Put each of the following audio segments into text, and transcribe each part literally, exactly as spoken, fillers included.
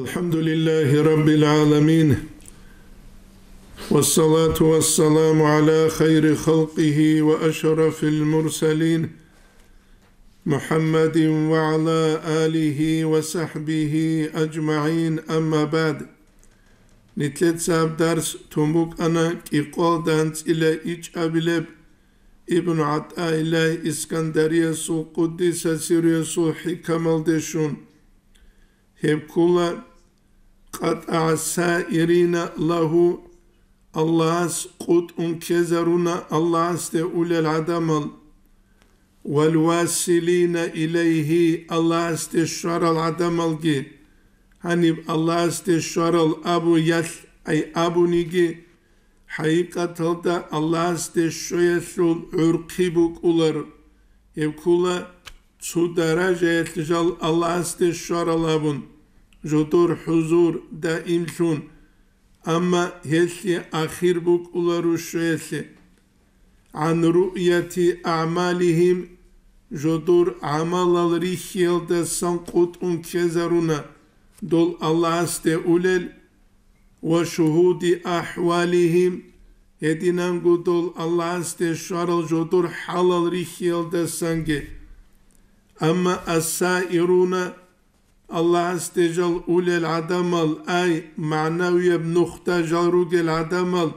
الحمد لله رب العالمين، والصلاة والسلام على خير خلقه وأشرف المرسلين، محمد وعلى آله وصحبه أجمعين، أما بعد. Нилъеца гьаб дарс тун букӀана кӀикъоялда анцӀила ичӀабилеб Ибн ГӀатӀаиллагь Искандариясул къуддиса сирруясул хӀикамалде щун. Гьеб ккола: «КъатӀагӀа саирина лагьу», Аллагьас къутӀун ккезаруна Аллагьасде улел гӀадамал, «вал василина илайгьи», Аллагьасде щварал гӀадамалги. Гьаниб Аллагьасде щварал абу ялъ ай абуниги, хӀакъикъаталда Аллагьасде щвеялъул гӀурхъи букӀулар. Гьеб ккола цо даражаялъ жал Аллагьасде щварал абун, жодор хӀузур даимлъун, амма гьелъие ахир букӀуларо щвеялъе. «ГӀан руъяти агӀмалигьим», жодор гӀамалал рихьиялдасан къутӀун ккезаруна дол Аллагьасде улел, «ва шугьуди ахӀвалигьим», гьединанго дол Аллагьасде щварал жодор хӀалал рихьиялдасанги. Амма «ас-саируна», Аллагьасде жал улел гӀадамал, ай, магӀнавияб нухда жал ругел гӀадамал,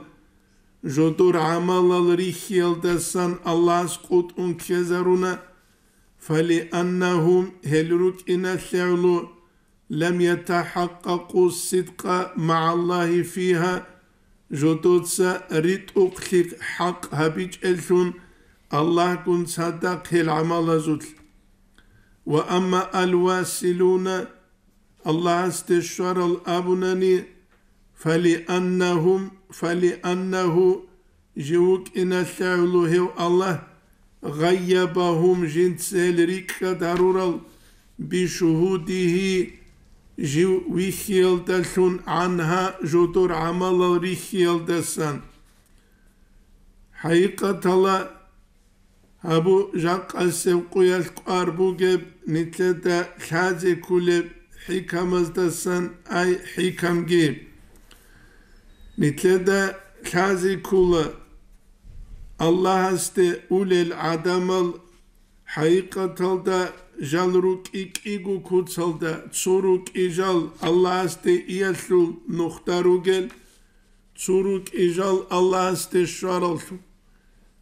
жодор гӀамалал рихьиялдасан Аллагьас къутӀун ккезаруна, «фалианнагьум», гьел рукӀиналъе гӀоло, «лам ятахӀакъкъакъу сидкъа магӀаллагьи фигьа», жодоца ритӀухълъи хӀакъ гьабичӀеллъун Аллагьгун цадахъ гьел гӀамалазулъ. «Ва амма ал-василуна», Аллагьасде щварал абунани, «фалианнагьум», «фалианнагьу», жив вукӀиналъе гӀоло гьев Аллагь, «гъайябагьум», жинца гьел рикӀкӀад гьарурал, «бишугьудигьи», жив вихьиялдалъун, «гӀангьа», жодор гӀамалал рихьиялдасан. ХӀакъикъаталда, гьабу жакъасеб къуялъ кӀвар бугеб нилъеда лъазе кколеб хӀикамаздасан, ай хӀикамги. Нилъеда лъазе ккола Аллагьасде улел гӀадамал, хӀакъикъаталда жал рукӀи кӀиго куцалда, цо рукӀи жал Аллагьасде иялъул нухда ругел, цо рукӀи жал Аллагьасде щвараллъун.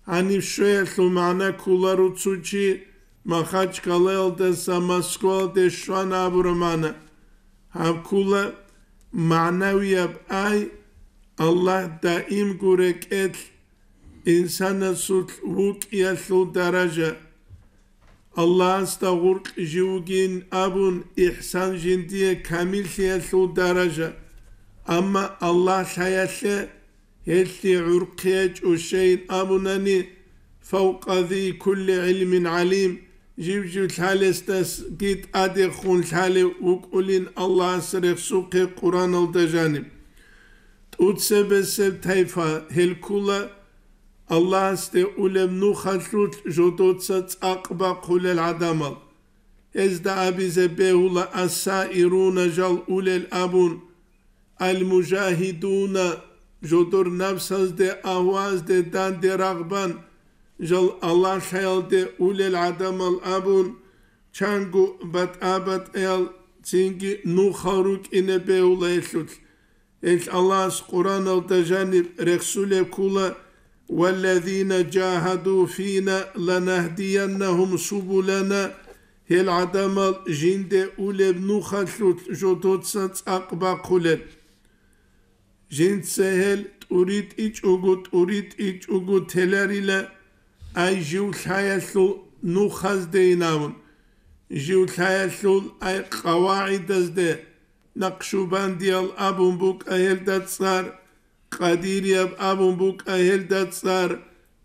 Гьаниб щвеялъул магӀна кколаро цо чи Махачкалаялдаса Москваялде щвана абураб магӀна. Гьаб ккола магӀнавияб ай, Аллагь даимго рекӀелъ инсанасулъ вукӀиялъул даража. Аллагьасда гъуркь жив вугин абун, ихсан жиндие камиллъиялъул даража. Амма Аллагь лъаялъе гьелъие гӀурхъи гьечӀо щайин абунани, «фавкъа зи кулли гӀилмин гӀалим», жив-жив лъалесдасги тӀадехун лъалев вукӀулин Аллагьас рехсухъе Къуръаналда жаниб. ТӀуцебесеб тайпа гьел ккола Аллагьасде улеб нухалъулъ жодоца цӀакъ бахъулел гӀадамал. Гьезда абизе бегьула ас-саируна жал улел абун, ал-мужагьидуна, жодор напсазде, агьвазде данде рагъбан, жал Аллагь лъаялде улел гӀадамал абун, чанго батӀа-батӀаял цинги нухал рукӀине бегьула гьелъулъ. Гьелъ Аллагьас Къуръаналда жаниб рехсулеб ккола: «Валлазина жагьаду фина ланахдияннагьум субулана», гьел гӀадамал жинде улеб нухалъулъ жодоца цӀакъ бахъулел. Жинца гьел тӀуритӀичӀого-тӀуритӀичӀого теларила, ай жив лъаялъул нухаздейин абун, жив лъаялъул ай къавагӀидазде, Накъшубандиял абун букӀа гьелда цӀар, Къадирияб абун букӀа гьелда цӀар,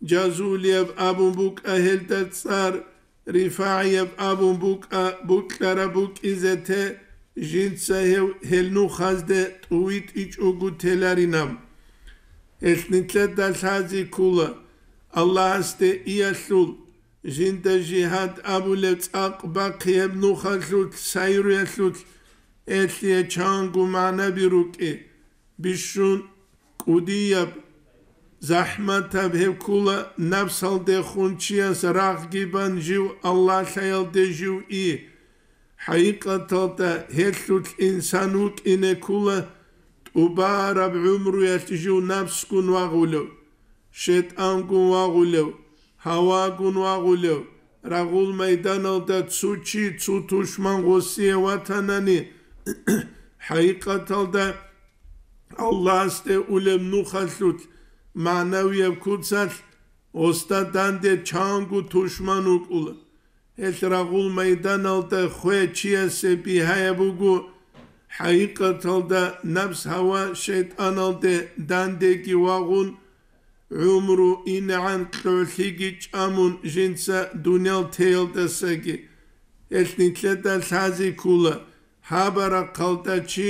Жазулияб абун букӀа гьелда цӀар, РифагӀияб абун букӀа букьараб букӀизе те, жинца гьев гьел нухазде тӀувитӀичӀого теларинаб. Гьелъ нилъеда лъази ккола, Аллагьасде иялъул, жинда жигьад абулеб цӀакъ бахъияб нухалъулъ, сайруялъулъ, Гьелъие чанго магӀнаби рукӀи, бищун кӀудияб, захӀматаб гьеб ккола, напсалдехун чияс рагъги бан жив Аллагьлъаялде жив и. ХӀакъикъаталда гьелъулъ инсан вукӀине ккола, тӀубараб гӀумруялъ жив напсгун вагъулев, шайтӀангун вагъулев, гьавагун вагъулев, рагъул майданалда цо чи, цо тушман гъосие ватанани, хӀакъикъаталда Аллагьасде улеб нухалъулъ, магӀнавияб куцалъ гъосда данде чанго тушман вукӀула. Гьелъ рагъул майданалда хвей чиясе бигьаяб буго, хӀакъикъаталда напс-гьава шайтӀаналде дандеги вагъун, гӀумру инегӀан кьолъиги чӀамун жинца дуниял теялдасаги. Гьелъ нилъеда лъази ккола, гьаб рахъалда чи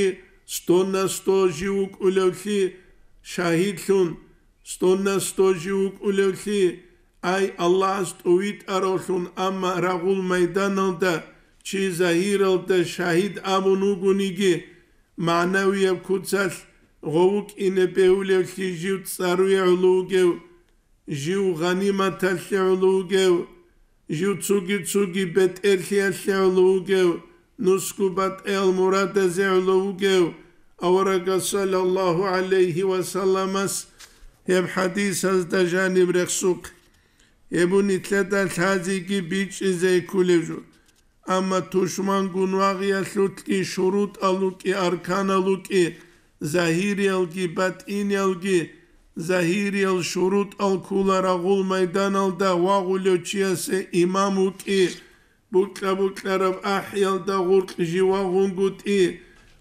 стонна сто жив вукӀулевлъи шагьидлъун, стонна сто жив вукӀулевлъи, ай, Аллагьас тӀовитӀаравлъун, амма рагъул майданалда чи загьиралда шагьид абун вугониги, магӀнавияб куцалъ гъов вукӀине бегьулевлъи жив цӀаруе гӀоло вугев, жив гъаниматалъе гӀоло вугев, жив цоги-цоги бетӀерлъиялъе гӀоло вугев, нусго батӀиял мурадазе гӀоло вугев, аварагас саллаллагьу гӀалайгьи ва салламас гьеб хӀадисазда жаниб рехсухъ. Гьеб нилъеда лъазеги бичӀчӀизе кколев жо. Амма тушмангун вагъиялъулъги шурутӀал рукӀи, арканал рукӀи, загьириялги батӀиниялги, загьириял шурутӀал ккола рагъул майданалда вагъулев чиясе имам вукӀи, букьа-букьараб ахӀиялда гъуркь жив вагъунгутӀи,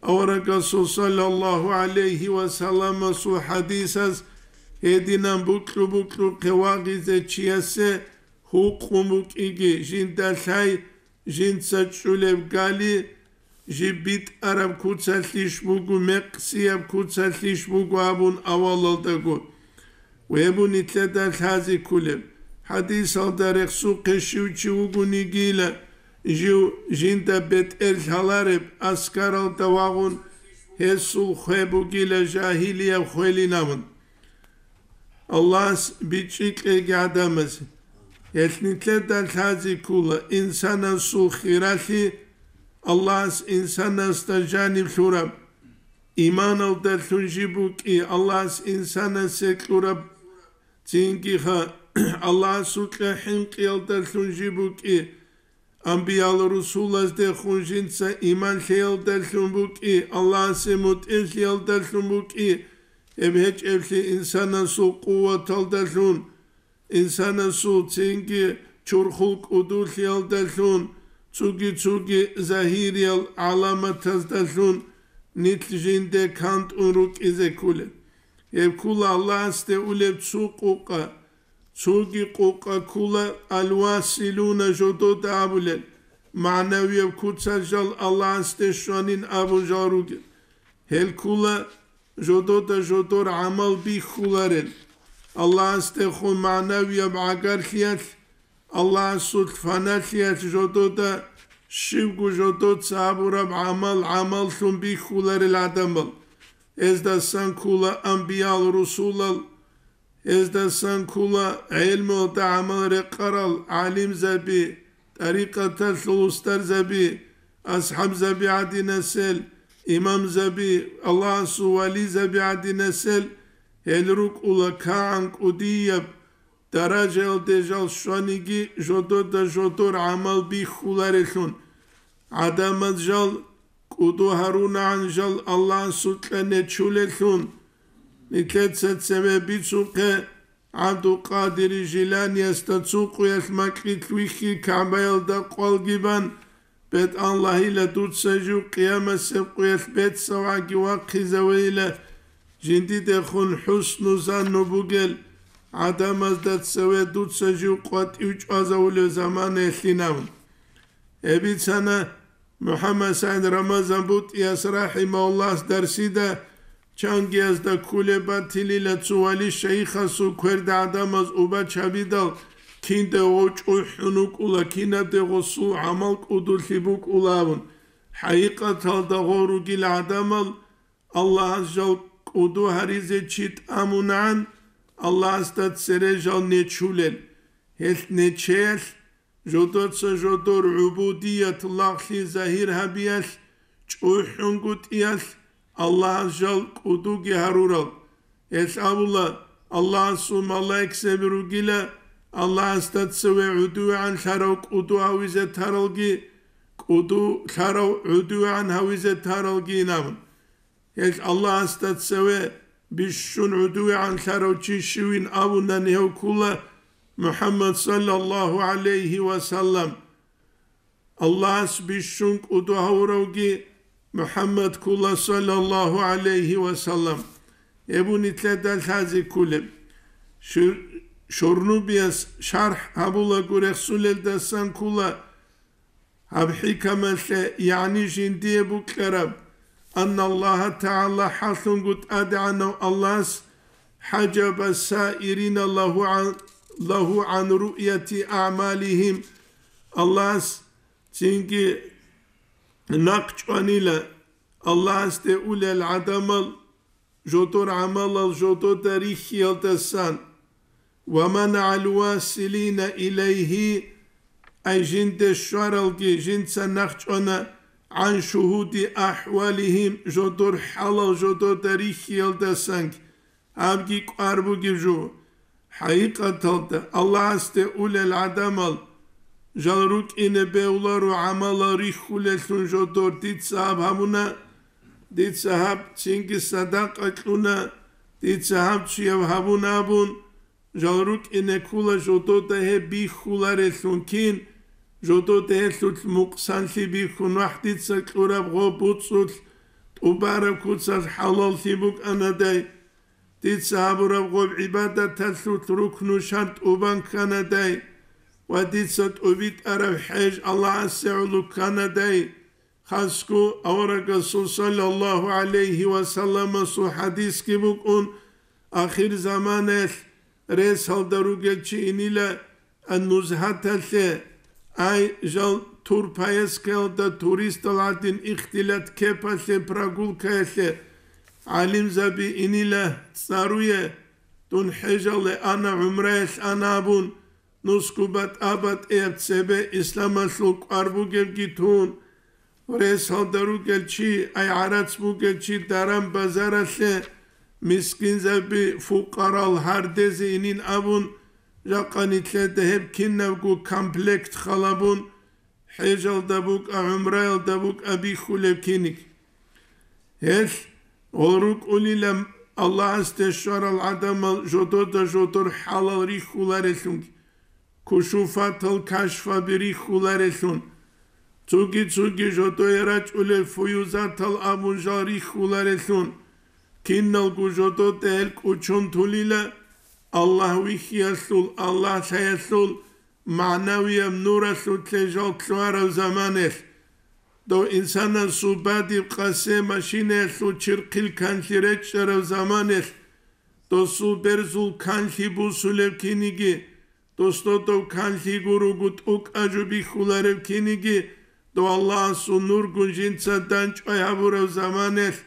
аварагасул саллаллагьу гӀалайгьи ва салламасул хӀадисаз гьединан букьу-букьухъе вагъизе чиясе гьукъун букӀиги, жинда лъай, жинца чӀулеб гали, жиб битӀараб куцалъищ буго, мекъсияб куцалъищ буго абун авалалдаго. Гьеб нилъеда лъази кколеб. ХӀадисалда рехсухъе щив чи вугонигила, жив жинда бетӀер лъалареб, аскаралда вагъун гьесул хвей бугила жагьилияб хвелин абун. Аллагьас бичӀчӀи кьеги гӀадамазе. Гьелъ нилъеда лъази ккола инсанасул хиралъи, Аллагьас инсанасда жаниб лъураб, иманалдалъун жиб букӀи, Аллагьас инсанасе кьураб, цинги ха-, Аллагьасукьа хӀинкъиялдалъун жиб букӀи, амбиял-русулаздехун жинца иман лъеялдалъун букӀи, Аллагьасе мутӀигӀлъиялдалъун букӀи, гьеб гьечӀеблъи инсанасул къуваталдалъун, инсанасул цинги чурхул кӀудулъиялдалъун, цоги-цоги загьириял гӀаламатаздалъун нилъ жинде кантӀун рукӀизе кколел. Гьеб ккола Аллагьасде улеб цо къукъа, цоги къукъа ккола алвасилуна жодода абулел, магӀнавияб куцалъ жал Аллагьасде щванин абун жал ругел. Гьел ккола жодода жодор гӀамал бихьуларел. Аллагьасдехун магӀнавияб гӀагарлъиялъ, Аллагьасул фаналъиялъ жодода щибго жодоца гьабураб гӀамал гӀамаллъун бихьуларел гӀадамал. Гьездасан ккола амбиял-русулал, гьездасан ккола гӀелмуялда гӀамал рекъарал гӀалимзаби, тӀарикъаталъул устарзаби, асхӀабзаби гӀадинасел, имамзаби, Аллагьасул вализаби гӀадинасел, гьел рукӀула кагӀан кӀудияб даражаялде жал щваниги, жодода жодор гӀамал бихьуларелъун. ГӀадамаз жал кӀуду гьарунагӀан жал Аллагьасукьа нечулелъун, нилъеца цеве бицухъе, ГӀабдулкъадир Жиланиясда цо къуялъ макьилъ вихьи, КагӀбаялда къвалги бан, БетӀаллагьила, дуца жив къиямасеб къуялъ бецавгӀаги вахъизавейила, жиндидехун хӀусну занну бугел гӀадамазда цеве дуца жив къватӀив чӀвазавулев заманаялъин абун. Гьеб бицана МухӀаммад СагӀид Рамазан БутӀияс рахӀимагьуллагьас дарсида, чангиязда кколеб батилила цо вали шайихасул кверда гӀадамаз убач гьабидал, кинде гъов чӀухӀун вукӀула, кинабде гъосул гӀамал кӀудулъи букӀула абун. ХӀакъикъаталда гъов ругел гӀадамал Аллагьас жал кӀуду гьаризе чи тӀамунагӀан, Аллагьасда цере жал нечулел, гьелъ нечеялъ жодоца жодор гӀубудият лагълъи загьир гьабиялъ, чӀухӀунгутӀиялъ Аллагьас жал кӀудуги гьарурал. Гьелъ абула, Аллагьасул малаикзаби ругила, Аллагьасда цеве гӀудувегӀан лъарав кӀуду гьавизе таралги, кӀуду лъарав гӀудувегӀан гьавизе таралгин абун. Гьелъ Аллагьасда цеве бищун гӀудувегӀан лъарав чи щивин абунани гьев ккула МухӀаммад саллаллагьу гӀалайгьи ва саллам. Аллагьас бищун кӀуду гьавуравги МухӀаммад ккула саллаллагьу гӀалайгьи ва саллам. Гьеб нилъеда лъазе кколеб. Шур-, Шурнубияс шархӀ гьабулаго рехсулелдасан ккула гьаб хӀикамалъе, ягӀни жиндие букьараб, анна Аллагьа ТагӀала, хӀалъунго ТӀадегӀанав Аллагьас, хӀажаба саирина лагьу гӀан, лагьу гӀан руъяти агӀмалигьим, Аллагьас цинги нахъ чӀванила Аллагьасде улел гӀадамал жодор гӀамалал жодода рихьиялдасан, ва манагӀал василина илайгьи, ай жинде щваралги жинца нахъ чӀвана, гӀан шугьуди ахӀвалигьим, жодор хӀалал жодода рихьиялдасанги, гьабги кӀвар бугеб жо. ХӀакъикъаталда, Аллагьасде улел гӀадамал жал рукӀине бегьуларо гӀамалал рихьулеллъун жодор дица гьаб гьабуна, дица гьаб цинги садакъа кьуна, дица гьаб чияв гьабуна абун, жал рукӀине ккула жодода гьеб бихьулареллъун кин, жодода гьелъулъ мукъсанлъи бихьун вахӀ дица кьураб гъо буцӀцӀулъ, тӀубараб куцалъ хӀалаллъи букӀанадай, дица гьабураб гъоб гӀибадаталъулъ рукну шартӀ убан кканадай ва дица тӀубитӀараб хӀеж Аллагьасе гӀоло кканадай, хасго аварагасул саллаллагьу гӀалайгьи ва салламасул хӀадисги букӀун, ахирзаманаялъ ресалда ругел чи инила Ан-Нузгьаталъе, ай, жал турпоездкаялда туристал гӀадин ихтилат кепалъе прогулкаялъе гӀалимзаби инила цӀаруе, дун хӀежалде ана, гӀумраялъ ана абун, нусго батӀа-батӀияб цебе исламалъул кӀвар бугебги тун, Ресалда ругел чи, ай гӀарац бугел чи даран-базаралъе мискинзаби, фукъарал гьардезе инин абун, жакъа нилъеда гьеб кинабго комплект халабун, хӀежалда букӀа, гӀумраялда букӀа бихьулеб киниг. Гьелъ гъол рукӀулила Аллагьасде щварал гӀадамал жодода жодор хӀалал рихьуларелъунги, кушуфатал кашфаби рихьуларелъун, цоги-цоги жодое рачӀулел фуюзатал абун жал рихьуларелъун, киналго жодода гьел кӀучун тулила Аллагь вихьиялъул, Аллагь лъаялъул, магӀнавияб нуралъулъе жал лъугьараб заманалъ, дов инсанасул бадиб къасе машинаялъул чирхъил канлъи речӀчӀараб заманалъ, досул берзул канлъи бусулеб киниги, дос додов канлъи гуруго тӀукӀа жо бихьулареб киниги, дов Аллагьасул нургун жинца данчӀвай гьабураб заманалъ,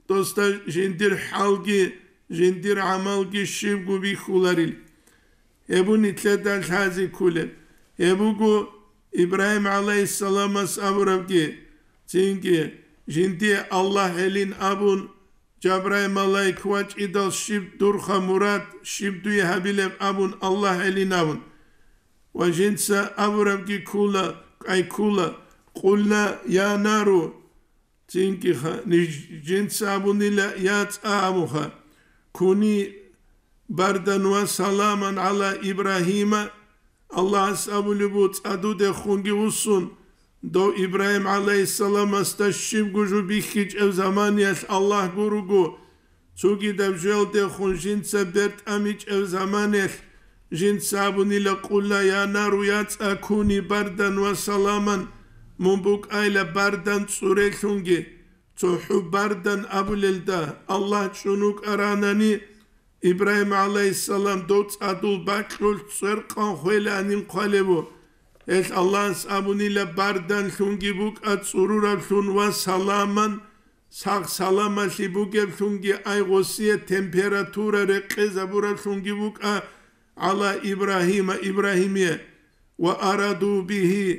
досда жиндир хӀалги, жиндир гӀамалги щибго бихьуларил. Гьеб нилъеда лъазе кколеб. Гьеб буго Ибрагьим гӀалайгьиссаламас абурабги, цинги, жиндие Аллагь гьелин абун, Жабраил малаик вачӀидал щиб дурха мурад, щиб дуе гьабилеб абун Аллагь гьелин абун. Ва жинца абурабги ккула, кӀай ккула, «Къулна, я нару», цинги ха, ниж-, жинца абунила, «Я цӀа», абуха, «Куни бардан ва саламан гӀала Ибрагьима», Аллагьас абулеб буго, цӀа дудехунги вуссун, дов Ибрагьим гӀалайгьиссаламасда щибго жо бихьичӀеб заманиялъ Аллагь гуруго, цогидаб жоялдехун жинца бертӀамичӀеб заманиялъ, жинца абунила, «Къулла, я нару, я цӀа, куни бардан ва саламан», мун букӀайла бардан цӀурелъунги, цохӀо бардан абулелда Аллагь чӀун вукӀаранани, Ибрагьим гӀалайгьиссалам дов цӀадул бакьулъ цӀеркъан хвеланин хъвалебу. Гьелъ Аллагьас абунила, бардан лъунги букӀа цӀурураблъун ва саламан, сагъ-саламалъи бугеблъунги, ай гъосие температура рекъезабураблъунги букӀа гӀала Ибрагьима, Ибрагьимие. Ва араду бигьи,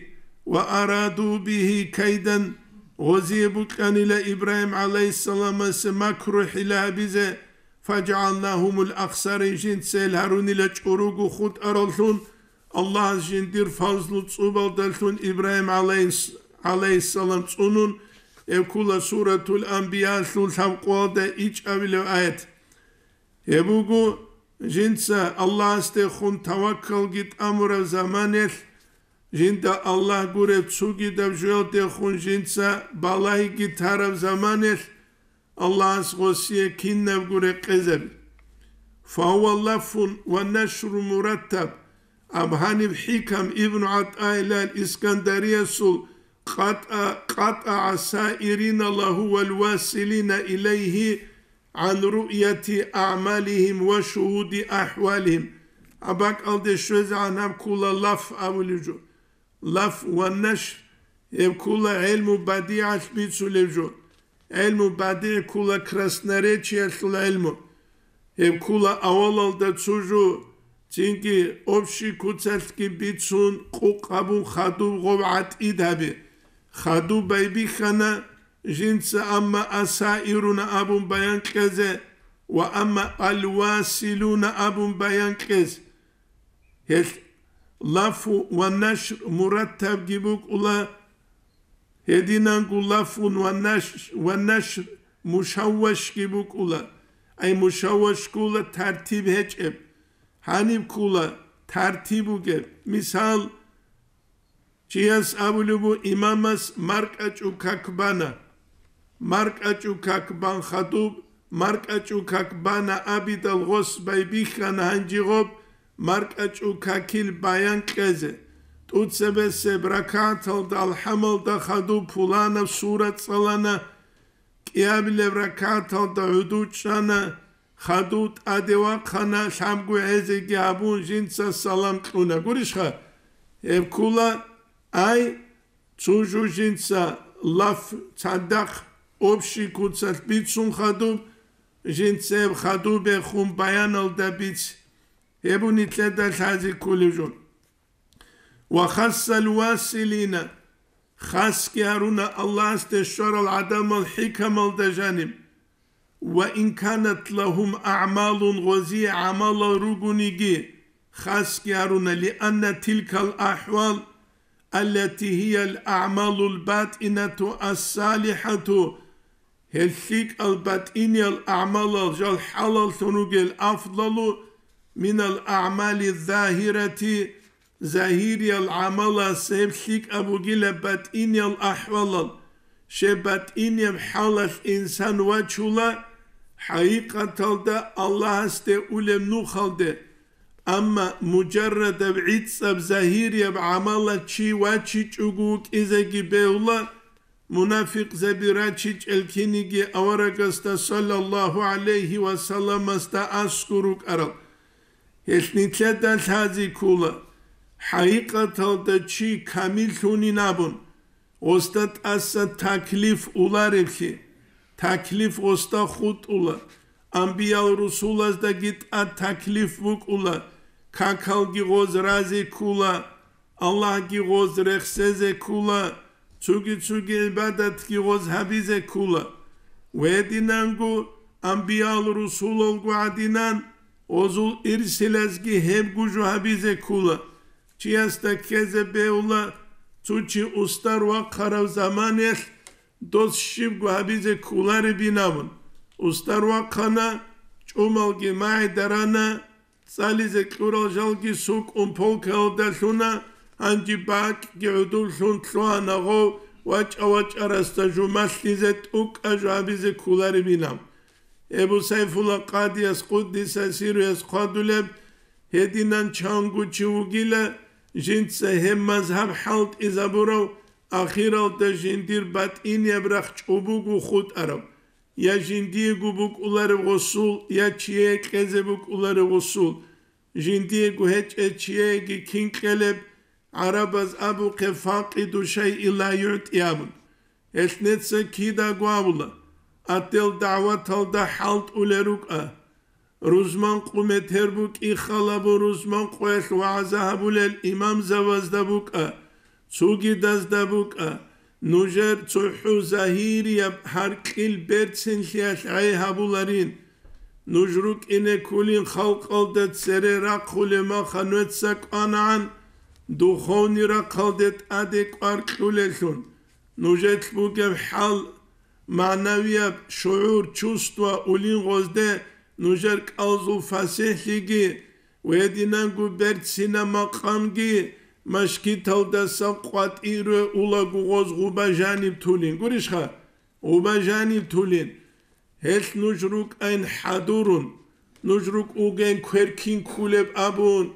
ва араду бигьи кайдан, гъозие букьанила Ибрагьим гӀалайгьиссаламасе макру-хӀила гьабизе, фаджгӀалнагьумул ахсарин, жинца гьел гьарунила чӀуруго хутӀараллъун, Аллагьас жиндир фазлу цӀубалдалъун Ибрагьим гӀалайгьис-, гӀалайгьиссалам цӀунун, гьеб ккола Суратул Анбиялъул лъабкъоялда ичӀабилев аят. Гьеб буго, жинца Аллагьасдехун таваккалги тӀамураб заманелъ, жинда Аллагь гуреб цугидаб жоялдехун жинца балайги тараб заманелъ, Аллагьас гъосие кинабго рекъезаби. Фагьува лафун ва нашру мураттаб. Аб гьаниб ХӀикам ибн ГӀатӀаилал Искандариясул, къатӀа-, къатӀагӀа саирина лагьу вал василина илайгьи гӀан руъяти аъмалигьим ва шугьуди ахӀвалигьим. Гьаб бакӀалде щвезегӀан гьаб ккола лаф абулеб жо. Лаф ва нашр, гьеб ккола гӀелму бадигӀалъ бицулеб жо. ГӀелму бадигӀ ккола красноречиялъул гӀелму. Гьеб ккола авалалда цо жо, цинги общий куцалъги бицун, къукъ гьабун хадуб гъоб гӀатӀид гьабе. Хадуб байбихьана жинца, амма асаируна абун баян кьезе ва амма алвасилуна абун баян кьез. Гьелъ лафу ва нашр мураттабги букӀула, гьединанго лафун ва наш-, ва нашр мушаввашги букӀула. Ай мушавваш ккола тартиб гьечӀеб. Гьаниб ккола тартиб бугеб. Мисал, чияс абулеб бу имамас маркӀачӀу как бана. МаркӀачӀу как бан хадуб, маркӀачӀу как бана абидал гъос байбихьана гьанжи гъоб, маркӀачӀу какил баян кьезе. ТӀуцебесеб ракагӀаталда алхӀамалда хадуб пуланаб сура цӀалана, кӀиабилеб ракагӀаталда гӀуду чӀана, хадув тӀаде вахъана, лъабго гӀезеги гьабун, жинца салам кьуна. Гурищха? Гьеб ккола, ай, цо жо жинца лаф цадахъ общий куцалъ бицун хадуб, жинца гьеб хадубехун баяналда бици. Гьеб нилъеда лъазе кколеб жо. Ва хассал василина, хасги гьаруна Аллагьасде щварал гӀадамал хӀикамалда жаниб. Ва ин канат лагьум аъмалун, гъозие гӀамалал ругониги, хасги гьаруна, лианна тилкал ахӀвал, аллати гьиял аъмалул батӀинату ассалихӀату, гьел лъикӀал батӀиниял аъмалал жал хӀалаллъун ругел, афдалу минал аъмали загьирати, загьириял гӀамалас гьеб лъикӀаб бугила батӀиниял ахӀвалал. Щай батӀинияб хӀалалъ инсан вачула хӀакъикъаталда Аллагьасде улеб нухалде. Амма мужаррадаб гӀицӀаб загьирияб гӀамалалъ чи вачичӀого вукӀизеги бегьула, мунафикъзаби рачичӀел киниги аварагасда саллаллагьу гӀалайгьи ва салламасда аскӀор рукӀарал. Гьелъ нилъеда лъазе ккола, хӀакъикъаталда чи камиллъунин абун, гъосда тӀаса таклиф улареблъи, таклиф гъосда хутӀула, амбиял-русулаздаги тӀад таклиф букӀула, какалги гъоз разе ккула, Аллагьги гъоз рехсезе ккула, цуги-цуги гӀибадатги гъоз гьабизе ккула. Гьединанго амбиял-русулалго гӀадинан, гъозул ирсилазги гьебго жо гьабизе ккула. Чиясда ккезе бегьула, цо чи устар вахъарав заманаялъ дос щибго гьабизе кколаребин абун. Устар вахъана, чӀумалги магӀида рана, цӀализе кьурал жалги сукӀун полкаялда лъуна, гьанже бакӀги гӀодоблъун лъугьана гъов, вачӀа-вачӀарасда жумалъизе тӀукӀа жо гьабизе кколаребин абун. Эбу Сайфулла Къадияс, къуддиса сирругьу, хъвадулеб, гьединан чанго чи вугила, жинца гьеб мазгьаб хӀалтӀизабурав, ахиралда жиндир батӀинияб рахъ чӀобого хутӀарав, я жиндиего букӀуларев гъосул, я чияе кьезе букӀуларев гъосул, жиндиего гьечӀев чияеги кин кьелеб, гӀарабаз абухъе, факъиду шайи ла югӀти абун. Гьелъ неца кидаго абула, ател дагӀваталда хӀалтӀулел рукӀа. Рузман къу метер букӀи халабун, рузман къоялъ вагӀза гьабулел имамзабазда букӀа, цугидазда букӀа, нужер цохӀо загьирияб гьаркьил берцинлъиялъ гӀей гьабуларин. Нуж рукӀине ккулин халкъалда цере рахъулеб маха нуца кӀванагӀан, духовный рахъалде тӀаде кӀвар кьулеллъун. Нужелъ бугеб хӀал, магӀнавияб шугӀур, чувство улин гъозде нужер кӀалзул фасихӀлъиги, гьединанго берцина макъамги машгиталдаса къватӀире улаго гъоз гъуба жаниб тулин. Гурищха? Гъуба жаниб тулин. Гьелъ нуж рукӀайн хӀадурун, нуж рукӀугейин кверкин ккулеб абун,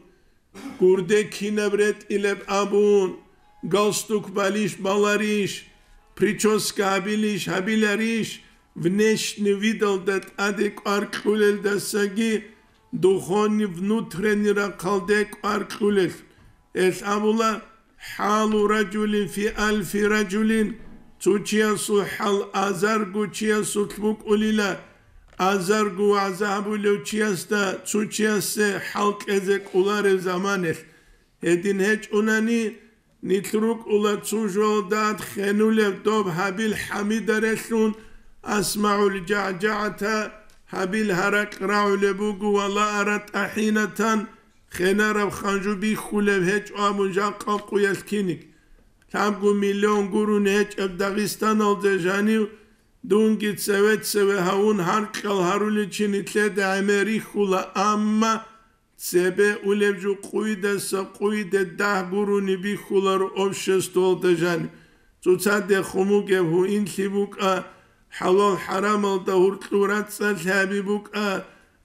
гурде кинаб ретӀилеб абун, галстук балищ баларищ, прическа гьабилищ гьабиларищ, внешний видалда тӀаде кӀвар кьулелдасаги, духовный внутренний рахъалде кӀвар кьулел. Гьелъ абула: «ХӀалу ражулин фи алфи ражулин», цо чиясул хӀал азарго чиясулъ букӀулила, азарго вагӀза гьабулев чиясда цо чиясе хӀал кьезе кӀоларев заманалъ. Гьедин гьечӀунани, нилъ рукӀула цо жоялда хенулев доб гьабил хӀамидарелъун, асмагӀул жагӀжагӀата, гьабил гьаракь рагӀулеб буго, ва ла ара тӀахӀинатан, хенараб ханжу бихьулеб гьечӀо абун жакъа къуялъ киник. Лъабго миллион гурони гьечӀеб Дагъистаналда жанив, дунги цеве-цеве гьавун гьаркьал гьаруличи нилъеда гӀемер рихьула, амма цебе улеб жо къуйдаса къуйде дагь гурони бихьуларо обществалда жанив. Цоцадехун бугеб гьуинлъи букӀа, хӀалал-хӀарамалда гьуркьу рацӀцӀалъи гьаби букӀа,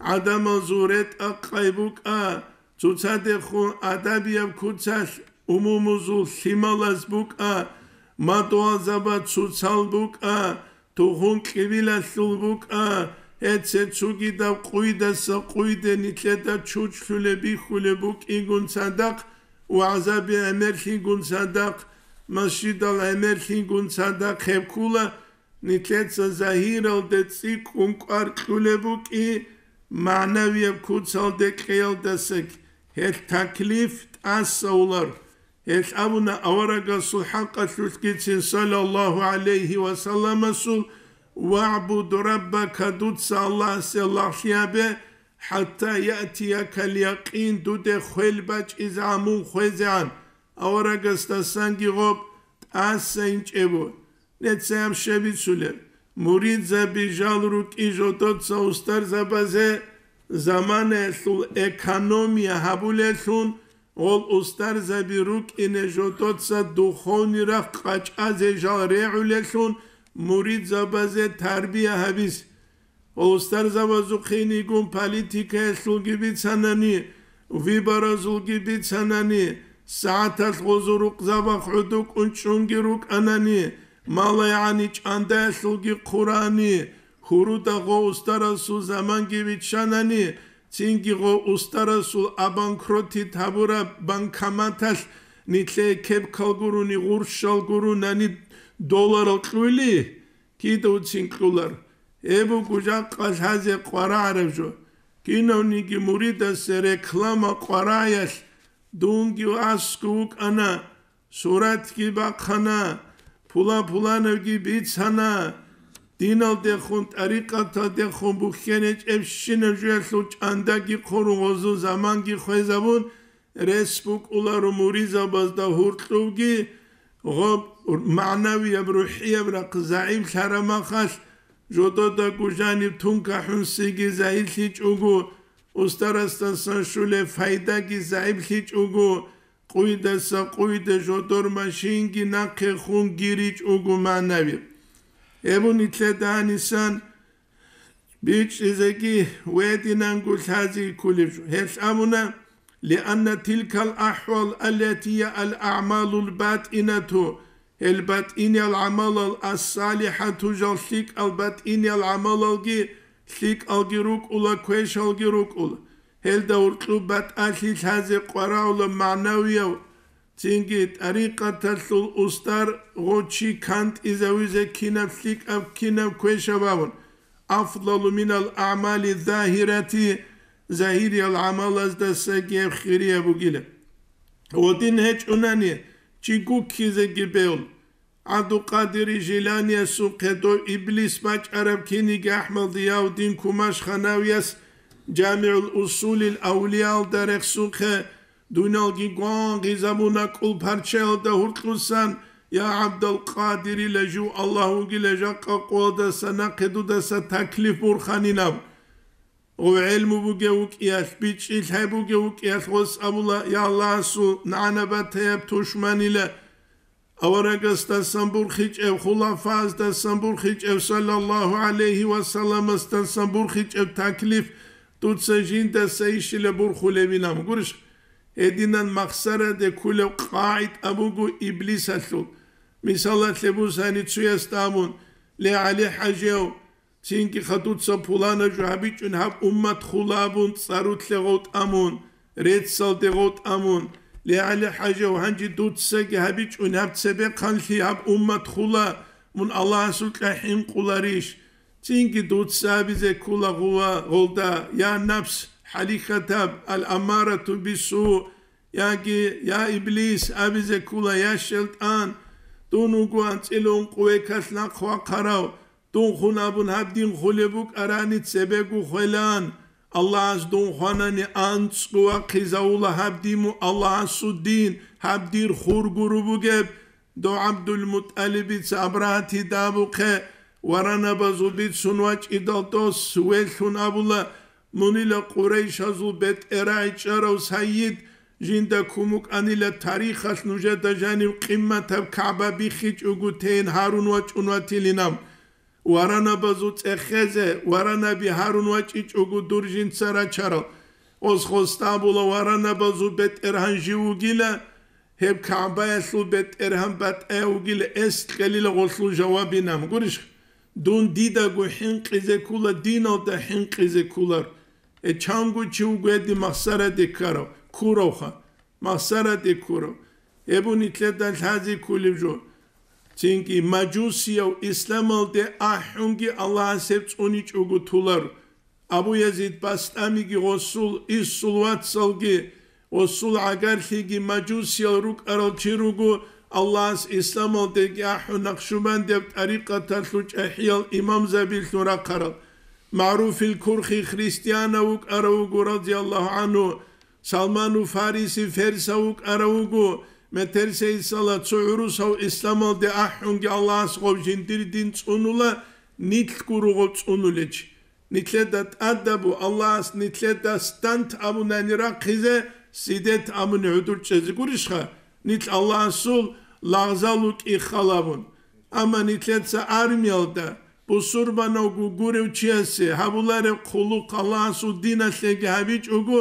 гӀадамазул ретӀа-къай букӀа, цоцадехун адабияб куцалъ умумузул лъималаз букӀа, мадугьалзаба цоцал букӀа, тухум кьибилалъул букӀа, гьеце цугидаб къуйдаса къуйде нилъеда чучлъулеб бихьулеб букӀигун цадахъ, вагӀзаби гӀемерлъигун цадахъ, масжидал гӀемерлъигун цадахъ гьеб ккула, нилъеца загьиралде цӀикӀкӀун кӀвар кьулеб букӀи, магӀнавияб куцалде кьеялдасаги гьелъ таклиф тӀасаулар. Гьелъ абуна аварагасул хӀакъалъулъгицин саллаллагьу гӀалайгьи ва салламасул: «ВагӀбуд раббака», дуца Аллагьасе лагълъи гьабе, «хӀатта яътиякал якъин», дуде хвел бачӀизегӀан мун хвезегӀан. Аварагасдасанги гъоб тӀаса инчӀебу. Нецаяб щай бицулеб? Муридзаби жал рукӀи жодоца устарзабазе, заманаялъул экономия гьабулелъун, гъол устарзаби рукӀине жодоца духовный рахъ къачӀазе жал регӀулелъун муридзабазе тарбия гьабизе. Ва устарзабазухъе инигун политикаялъулги бицанани, выборазулги бицанани, сагӀаталъ гъозул рукъзабахъ гӀодукӀун чӀунги рукӀанани, малайгӀани чӀандаялъулги хъурани, гьуруда гъо устарасул заманги виччанани, цинги гъо устарасул обанкротить гьабураб банкоматалъ нилъее кепкал гурони, гъурщал гуронани долларал кьули, кидавцин кьулар. Гьеб буго жакъа лъазе къварагӀараб жо. Кинавниги муридасе реклама къварагӀиялъ дунги аскӀов вукӀана, суратги бахъана, пула-пуланавги бицана, диналдехун, тӀарикъаталдехун бухьен гьечӀебщинаб жоялъул чӀандаги хъурун, гъозул заманги хвезабун, рес букӀуларо муридзабазда гьуркьубги, гъоб магӀнавияб, рухӀияб рахъ загӀиплъараб махалъ, жододаго жаниб тункахӀунсиги загьирлъичӀого, устарасдасан щулеб пайдаги загӀиплъичӀого, къуйдаса къуйде жодор машинги нахъе хун гиричӀого магӀнави. Гьеб нилъеда гьанисан бичӀчӀизеги гьединанго лъази кколеб жо. Гьелъ абуна: «Лианна тилкал ахӀвал аллатия ал-аъмалул батӀинату», гьел батӀиниял гӀамалал, ас-салихӀату жал лъикӀал батӀиниял гӀамалалги лъикӀалги рукӀула, квешалги рукӀула. Гьелда гьуркьуб батӀалъи лъазе къварагӀула магӀнавияв Цинги тӀарикъаталъул устар гъо чи кантӀизавизе кинаб лъикӀаб, кинаб квешаб абун, афдалу минал аъмали загьирати, загьириял гӀамалаздасаги гьеб хирияб бугила. Гъодин гьечӀунани, чи гуккизеги бегьул. ГӀабдулкъадири Жиланиясухъе дов иблис бачӀараб киниги АхӀмад Зияуддин Кумашханавияс ЖамигӀул Усулил Авлияалда рехсухъе, дуниялги гвангъизабуна кӀул парчаялда гьуркьусан, я ГӀабдалкъадирила жив Аллагь вугила жакъа къоялдаса нахъе дудаса таклиф бурханинаб. Гъов гӀелму бугев вукӀиялъ, бичӀчӀи лъай бугев вукӀиялъ гъос абула, я Аллагьасул нагӀана батаяб тушманила, аварагасдасан бурхичӀев, хулафаздасан бурхичӀев, саллаллагьу гӀалайгьи ва салламасдасан бурхичӀев таклиф дуца жиндаса ишила бурхулебилан гурищ? Гьединан махсараде кколев къагӀида буго иблисалъул. Мисалалъе бусани цуясда абун, ле, ГӀали-хӀажияв, цинги хадуца пулана жо гьабичӀун гьаб уммат хула абун цӀарулъе гъов тӀамун, реццалде гъов тӀамун, ле, ГӀали-хӀажав, гьанже дуцаги гьабичӀун гьаб цебехъанлъи гьаб уммат хула, мун Аллагьасукьа хӀинкъуларищ? Цинги дуца абизе ккула гъува гъолда, я напс, хӀалихьатаб, ал-аммарату бису, яги, я иблис, абизе ккула, я шайтӀан, дун вуго анцӀила ункъ векалъ нахъ вахъарав, дун хун абун гьаб дин хулеб букӀарани цебего хвелан, Аллагьас дун хванани анцӀго вахъизавула гьаб дин, Аллагьасул дин, гьаб дир хур гуру бугеб. Дов ГӀабдулмутӀалибица Абрагьатида абухъе варанабазул бицун вачӀидал дос велъун абула, мунила Къурайшазул бетӀергьан чӀарав сайид, жинда кумукӀанила тарихалъ нужеда жанив къимматаб КагӀба биххичӀого тейин гьарун вачӀун ватилинаб. Варанабазул цӀехезе, варанаби гьарун вачӀичӀого дур жинца рачарал. Гъос-гъосда абула, варанабазул бетӀергьан жив вугила, гьеб КагӀбаялъул бетӀергьан батӀаяв вугила, эс кьелила гъолъул жавабинаб. Гурищ, дун дидаго хӀинкъизе ккула, диналда хӀинкъизе ккулар. Э, чанго чи вуго гьедин махсараде ккарав, ккуравха. Махсараде ккурав. Гьеб нилъеда лъазе кколеб жо. Цинги мажусияв исламалде ахӀунги Аллагьас гьеб цӀуничӀого тулар. Абу Язид Бастамиги гъосул, иссул вацалги, гъосул гӀагарлъиги мажусиял рукӀарал чи руго, Аллагьас исламалдеги ахӀун, Накъшубандияб тӀарикъаталъул чӀахӀиял имамзабилъун рахъарал. МагӀруфил Курхи христианав вукӀарав вуго, разияллагьу гӀангьу. Салману Фариси ферсав вукӀарав вуго, метерсейсала цо гӀурусав исламалде ахӀунги Аллагьас гъов жиндир дин цӀунула, нилъ гуро гъов цӀунулечи. Нилъеда тӀадабу Аллагьас нилъеда стант абунани рахъизе, сидет абуни гӀудур чӀезе гурищха, нилъ Аллагьасул лагъзал вукӀи халабун. Амма нилъеца армиялда бусурбанавго гурев чиясе гьабулареб хъулухъ Аллагьасул диналъеги гьабичӀого,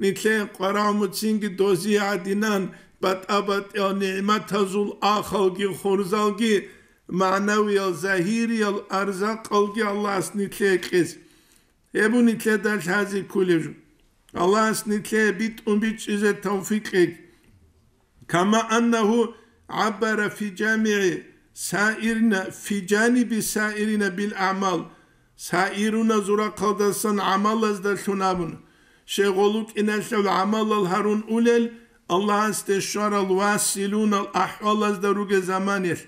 нилъее къварагӀмуцинги дозие гӀадинан батӀа-батӀиял нигӀматазул ахалги хурзалги, магӀнавиял, загьириял арзакъалги Аллагьас нилъее кьез. Гьеб нилъеда лъазе кколеб жо. Аллагьас нилъее битӀун бичӀчӀизе тавфикъ кьеги. Кама аннагьу гӀаббара фи жамигӀи саирина, фи жаниби саирина бил аъмал, саируназул рахъалдасан гӀамалаздалъун абуна, щай гъол рукӀиналъул гӀамалал гьарун улел, Аллагьасде щварал василунал ахӀвалазда ругел заманалъ,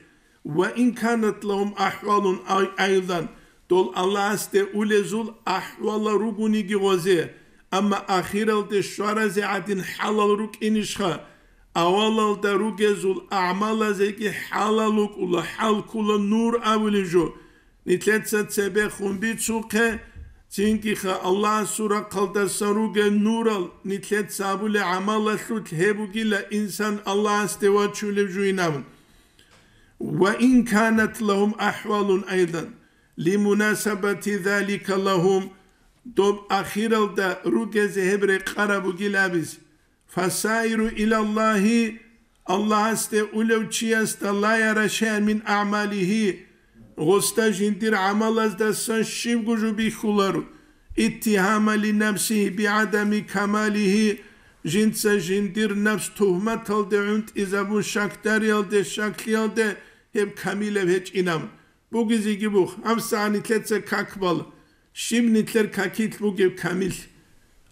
ва ин канат лагьум ахӀвалун ай-, айдан, дол Аллагьасде улезул ахӀвалал ругониги гъозе, амма ахиралде щваразе гӀадин хӀалал рукӀинищха? Авалалда ругезул агӀмалазеги хӀалал рукӀула, хӀалкула нур абулеб жо. Нилъеца цебехун бицухъе, цинги-ха Аллагьасул рахъалдасан ругел нурал, нилъеца абулеб гӀамалалъулъ гьеб бугила инсан Аллагьасде вачулеб жуинаб. Ва ин канат лагьум ахӀвалун айдан, лимунасабати залика лагьум, доб ахиралда ругезе гьеб рекъараб бугил абизе. Фасаиру илаллагьи, Аллагьасде улев чиясда ла яра шайан мин аъмалигьи, гъосда жиндир гӀамалаздасан щибго жо бихьуларо, иттигьама линафсигьи бигӀадами камалигьи, Жинца жиндир напс тугьматалде гӀунтӀизабун, щакдариялде, щаклъиялде гьеб камилаб гьечӀинаб бугезеги бух, гьабсагӀат нилъеца как бала, щиб нилъер какилъ бугеб камилъ.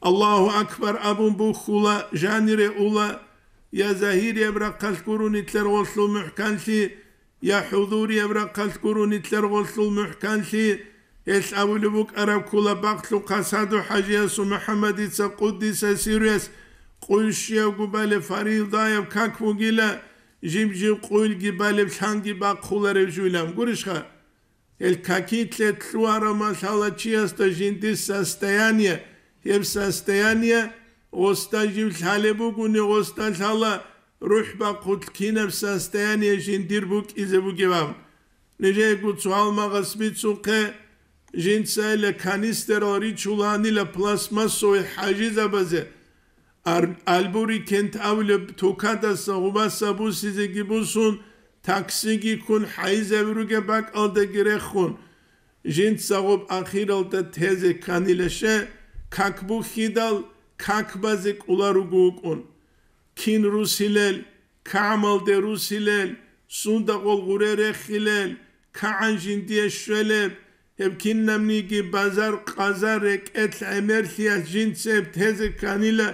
Аллагьу акбар абун бухьула, жанире ула, я загьирияб рахъалъ гуро нилъер гъолъул мухӀканлъи, я хӀузурияб рахъалъ гуро нилъер гъолъул мухӀканлъи, гьелъ абулеб букӀараб ккола Бахълъухъа СагӀду-хӀажиясул МухӀаммадица, къуддиса сирруяс, къуй щиябго балеб фаризаяб как бугила, жиб-жиб къуйлги балеб лъанги бахъуларев жуйлан гурищха? Гьел какилъе лъугьараб лъала чиясда жиндир состояние, гьеб состояние гъосда жив лъалеб бугони, гъосда лъала рухӀ бахъулъ кинаб состояние жиндир букӀизе бугеб абун. Нижеего цо гьалмагъас бицухъе, жинцайила канистерал ричуланила пластмассовый хӀажизабазе. Ар-, Альбурикент абулеб тукадаса гъубаса бусизеги бусун, таксиги ккун, хӀайизаби ругеб бакӀалдаги рехун, жинца гъоб ахиралда тезе кканилаше, как бухьидал, как базе кӀоларуго вукӀун. Кин русилел, кагӀмалде русилел, сундагъул гъуре рехилел, кагӀан жиндие щвелеб, гьеб кинабниги базар-къазар рекӀелъ гӀемерлъиялъ жинцеб тезе кканила,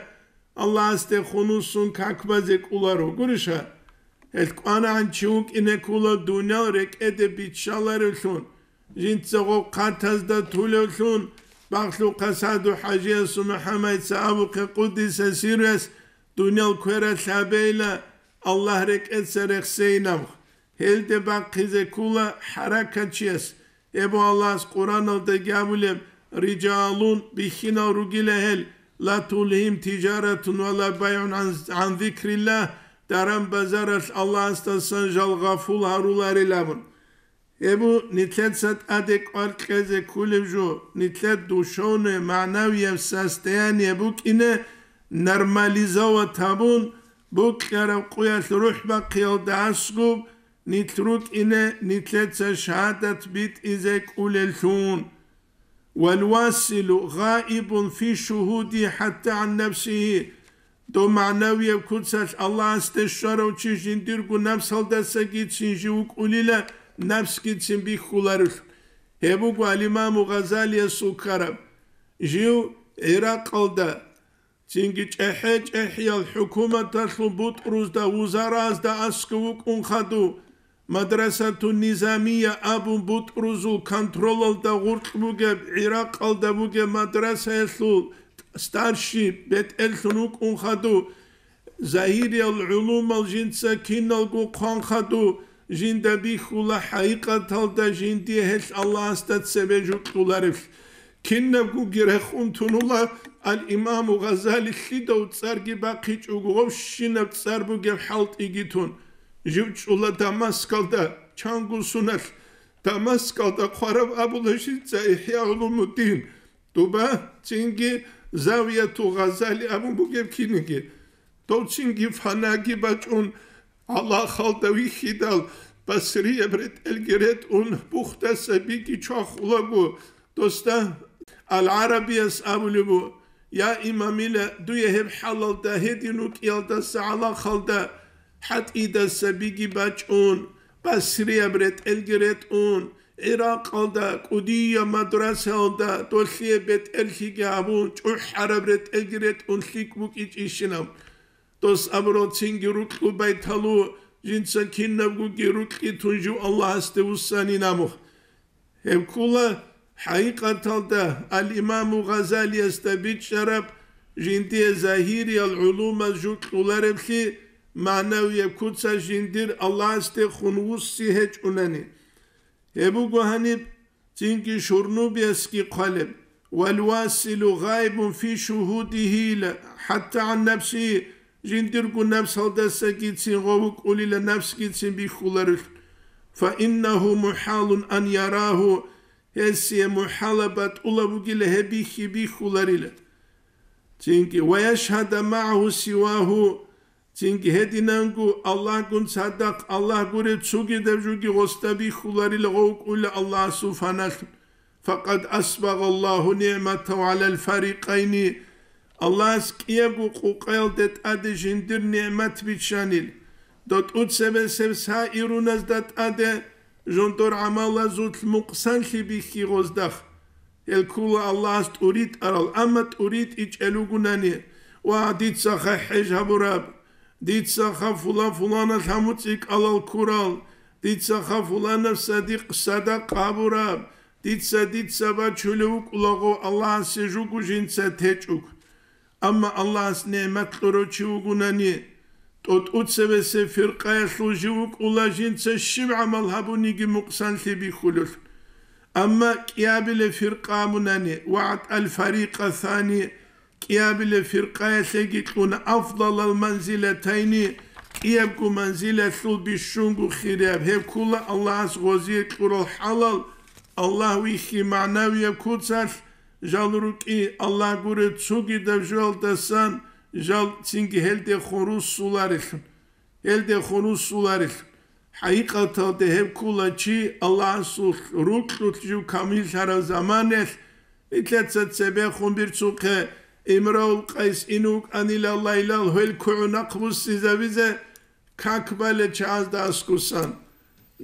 Аллагьасде хунусун как базе кӀоларо, гуриша? Гьел кӀванагӀан чи вукӀине ккола дуниял рекӀеде биччаларевлъун, жинца гъоб хъатазда тулевлъун, Бахълъухъа СагӀду-хӀажиясул МухӀаммадица абухъе, къуддиса сирруяс, дуниял квералъ гьабейила, Аллагь рекӀеца рехсейин абухъ. Гьелде бахъизе ккола хӀаракатчияс. Гьеб Аллагьас Къуръаналдаги абулеб, рижалун, бихьинал ругила гьел, ла тулгьим тижаратун ва ла байгӀун гӀан, гӀан зикриллагь, даран-базаралъ Аллагьасдасан жал гъафул гьаруларилан абун. Гьеб нилъеца тӀаде кӀвар кьезе кколеб жо, нилъер душевное, магӀнавияб состояние букӀине нормализовать гьабун, букьараб къуялъ рухӀ бахъиялда аскӀуб, нилъ рукӀине нилъеца шагьадат битӀизе кӀолеллъун. Валвасилу гъаибун фи шугьуди хӀатта гӀан нафсигьи. Дов магӀнавияб куцалъ Аллагьасде щварав чи жиндирго напсалдасагицин жив вукӀулила, напсгицин бихьуларелъ. Гьеб буго ал-Имаму Гъазалиясул ккараб. Жив ГӀиракъалда, цинги чӀехӀе-чӀехӀиял хӀукуматалъул бутӀрузда, вузаразда аскӀов вукӀун хадув, Мадрасатун Низамия абун бутӀрузул контролалда гъуркь бугеб ГӀиракъалда бугеб мадрасаялъул старший бетӀерлъун вукӀун хадув, загьириял гӀулумал жинца киналго хъван хадув, жинда бихьула хӀакъикъаталда жиндие гьелъ Аллагьасда цебе жукьуларелъ. Кинабгоги рехун тунула ал-Имаму Гъазали, лъидав цӀарги бахъичӀого, гъовщинаб цӀар бугеб хӀалтӀиги тун. Жив чӀула Дамаскалда, чанго суналъ, Дамаскалда хъвараб абула жинца ИхӀя гӀулумуддин, дуба цинги Завияту Гъазали абун бугеб киниги. Дов цинги фанаги бачӀун, гӀалахалда вихьидал, Басрияб ретӀелги ретӀун, бухдаса биги чвахулаго, досда Ал-ГӀарабияс абулеб бу: «Я имамила, дуе гьеб хӀалалда гьедин вукӀиялдаса гӀалахалда, хӀатӀидаса биги бачӀун, Басрияб ретӀелги ретӀун, ГӀиракъалда, кӀудияб мадрасаялда, долъие бетӀерлъиги гьабун, чӀухӀараб ретӀелги ретӀун лъикӀ букӀичӀищинаб?» Дос абурал цинги рукьу байталу, жинца кинабгоги рукьи тун жив Аллагьасде вуссанин абухъ. Гьеб ккола хӀакъикъаталда ал-Имаму Гъазалиясда бичӀчӀараб, жиндие загьириял гӀулумаз жукьулареблъи, магӀнавияб куцалъ жиндир Аллагьасде хун вусси гьечӀунани. Гьеб буго гьаниб цинги Шурнубиясги хъвалеб: «Валвасилу гъайбун фи шугьудигьи ла хӀатта гӀан нафсигьи», жиндирго напсалдасагицин гъов вукӀулила, напсгицин бихьуларелъ. «Фаиннагьу мухӀалун ан ярагьу», гьесие мухӀала батӀула бугила гьеб бихьи бихьуларила. Цинги: «Ва яшгьада магӀагьу сивагьу», цинги гьединанго Аллагьгун цадахъ Аллагь гурев цогидаб жуги гъосда бихьуларила гъов вукӀула Аллагьасул фаналъун. «Факъад асбагъаллагьу нигӀматагьу гӀалал фарикъайни», Аллагьас кӀиябго къукъаялде тӀаде жиндир нигӀмат биччанил, дов тӀуцебесеб сагӀируназда тӀаде жиндир гӀамалазулъ мукъсанлъи бихьи гъоздахъ. Гьел ккола Аллагьас тӀуритӀарал, амма тӀуритӀичӀел ругунани: «Ва, дицаха хӀеж гьабураб, дицаха фулан-фуланал гьамуцӀи кӀалал ккурал, дицаха фуланаб садикъ садакъа гьабураб, дица, дица бачулев вукӀулаго Аллагьасе жуго жинца течӀуг». Амма Аллагьас нигӀмат кьурав чи вугунани, тӀо-, тӀуцебесеб фиркъаялъул жив вукӀула жинца щиб гӀамал гьабуниги мукъсанлъи бихьулел. Амма кӀиабилеб фиркъа абунани, «ва аътӀал фарикъа сани», кӀиабилеб фиркъаялъеги кьуна «афдалал манзилатайни», кӀиябго манзилалъул бищунго хирияб, гьеб ккола Аллагьас гъозие кьурал хӀалал, Аллагь вихьи магӀнавияб куцалъ, жал рукӀи, Аллагь гуреб цогидаб жоялдасан жал цинги гьелдехун руссуларелъун, гьелдехун руссуларелъун. ХӀакъикъаталда гьеб ккола чи Аллагьасул рукьулъ жив камиллъараб заманаялъ, нилъеца цебехун бицухъе, Имравул Къайс ин вукӀанила Лайлал гьел кугӀу нахъ буссизабизе, как бале чагӀазда аскусан.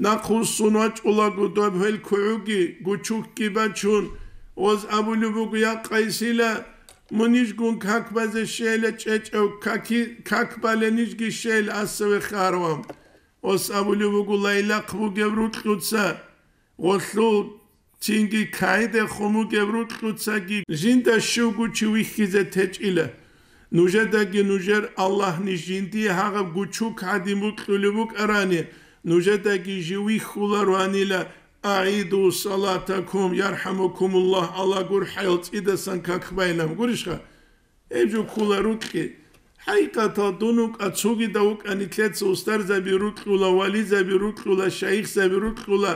Нахъ вуссун вачӀулаго доб гьел кугӀуги, гучукги бачун, гъоз абулеб буго: «Я Къайсила, муниж гун как базе щейила чӀечӀев, каки-, как бале нижги щейила асаве хъаравам». Гъос абулеб буго: «Лайлахъ бугеб рукьуца, гъолъул цинги кайде хумугеб рукьуцаги жинда щивго чи вихьизе течӀила. Нужедаги нужер Аллагьни жиндие гьагъаб гучук гьадин букьулеб букӀарани, нужедаги жив вихьулароанила. АгӀиду салатакум, ярхӀамукумуллагь, Аллагь гурхӀаял цӀидасан как байилан гурищха?» Гьеб жо ккола рукьи. ХӀакъикъатал дун вукӀа, цогидав вукӀа, нилъеца устарзаби рукьула, вализаби рукьула, шайихзаби рукьула,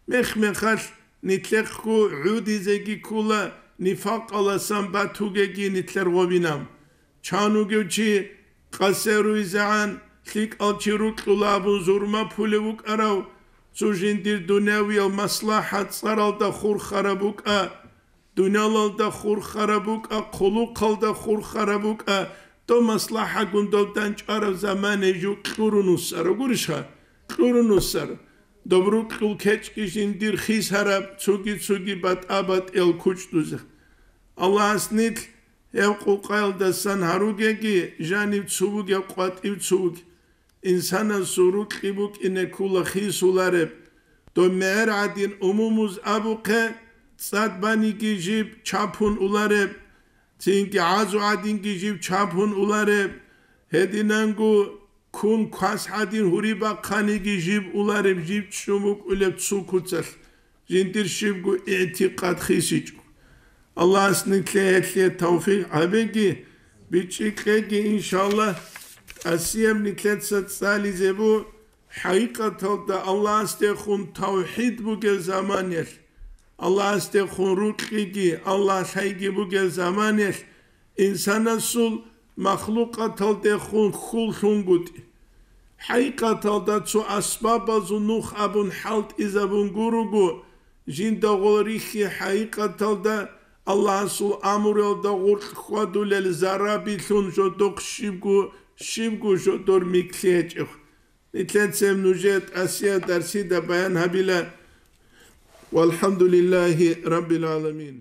мех-мехалъ нилъехъго гӀудизеги ккула, нифакъаласан батугеги нилъер гъобинаб. Чан вугев чи къасе руйзегӀан, лъикӀал чи рукьула абун зурма пулев вукӀарав, цо жиндир дунявиял маслахӀат цӀаралда хурхараб букӀа, дуниялалда хурхараб букӀа, хъулухъалда хурхараб букӀа, дов маслахӀагун дов данчӀвараб замане жив кьурун вуссарав гурищха? Кьурун вуссар. Доб рукьул кечӀги жиндир хисараб, цоги-цоги батӀа-батӀиял кучӀдузе. Аллагьас нилъ гьеб къукъаялдасан гьаругеги, жанив цо вугев къватӀив цо вугев. Инсанасул рукьи букӀине ккула хисулареб. Доб мегӀер гӀадин умумуз абухъе, цӀад баниги жиб чапун улареб, цинги гӀазу гӀадинги жиб чапун улареб, гьединанго ккун квас гӀадин гьури бахъаниги жиб улареб, жиб чӀун букӀулеб цо куцалъ. Жиндир щибго игӀтикъад хисичӀо. Аллагьас нилъее гьелъие тавфикъ гьабеги, бичӀчӀи кьеги, иншаллагь. ТӀасияб нилъеца цӀализе бу, хӀакъикъаталда Аллагьасдехун тавхӀид бугеб заманаялъ, Аллагьасдехун рукьиги, Аллагь лъайги бугеб заманаялъ, инсанасул махлукъаталдехун хьул лъунгутӀи. ХӀакъикъаталда цо асбабазул нух абун хӀалтӀизабун гуруго, жинда гъол рихьи хӀакъикъаталда Аллагьасул амруялда гъоркь хьвадулел зарабилъун жодохъ щибго, щибго жодор микълъи гьечӀеб. Нилъецаяб нужее тӀасияб дарсида баян гьабила. ВалхӀамдулиллагьи раббил гӀаламин.